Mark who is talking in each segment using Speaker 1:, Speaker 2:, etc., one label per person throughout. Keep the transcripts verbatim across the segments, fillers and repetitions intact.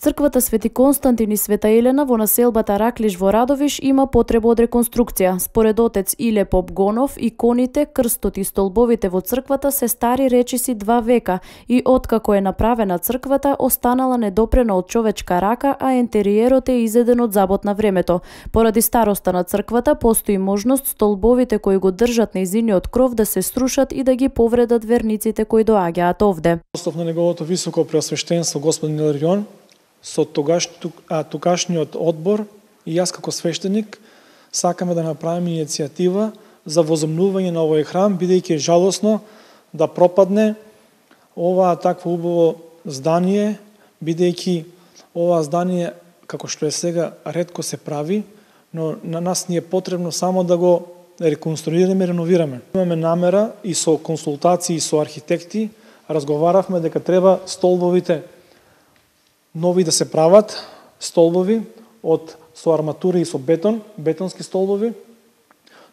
Speaker 1: Црквата Свети Константин и Света Елена во населбата Раклиш во Радовиш има потреба од реконструкција. Според отец Иле Попгонов, иконите, крстот и столбовите во црквата се стари речиси два века и откако е направена црквата останала недопрена од човечка рака, а ентериерот е изеден од забот на времето. Поради староста на црквата постои можност столбовите кои го држат нејзиниот кров да се срушат и да ги повредат верниците кои доаѓаат овде.
Speaker 2: Остав на неговото високо преосвештенство господин Иларион, со тогаш, а, тогашниот одбор и јас како свештеник сакаме да направиме иницијатива за возобновување на овој храм, бидејќи е жалосно да пропадне ова такво убаво здание, бидејќи ова здание, како што е сега, ретко се прави, но на нас ни е потребно само да го реконструираме и реновираме. Имаме намера и со консултации со архитекти, разговаравме дека треба столбовите нови да се прават, столбови од со арматура и со бетон, бетонски столбови,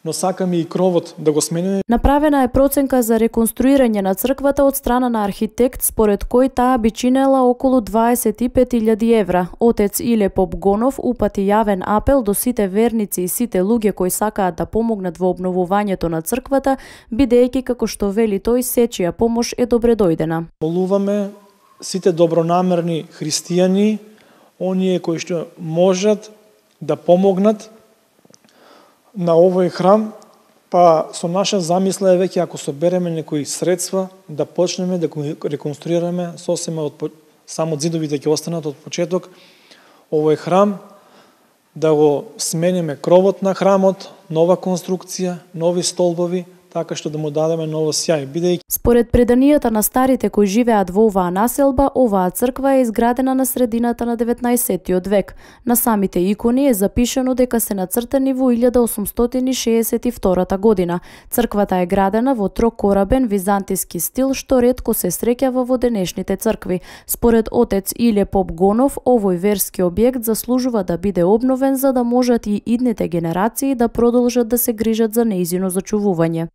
Speaker 2: но сакаме и кровот да го смениме.
Speaker 1: Направена е проценка за реконструирање на црквата од страна на архитект, според кој таа би чинела околу дваесет и пет илјади евра. Отец Иле Попгонов упати јавен апел до сите верници и сите луѓе кои сакаат да помогнат во обновувањето на црквата, бидејќи како што вели тој, сечија помош е добре дојдена.
Speaker 2: Молуваме сите добронамерни христијани, оние кои што можат да помогнат на овој храм, па со наша замисла е веќе ако собереме некои средства да почнеме да го реконструираме сосема од само зидовите ќе останат од почеток овој храм, да го смениме кровот на храмот, нова конструкција, нови столбови, така што да му дадеме ново сјај, бидејќи
Speaker 1: според преданијата на старите кои живеат во оваа населба, оваа црква е изградена на средината на деветнаесеттиот век. На самите икони е запишано дека се нацртани во илјада осумстотини шеесет и втора година. Црквата е градена во трокорабен византиски стил, што ретко се среќава во денешните цркви. Според отец Иле Попгонов, овој верски објект заслужува да биде обновен за да можат и идните генерации да продолжат да се грижат за нејзино зачувување.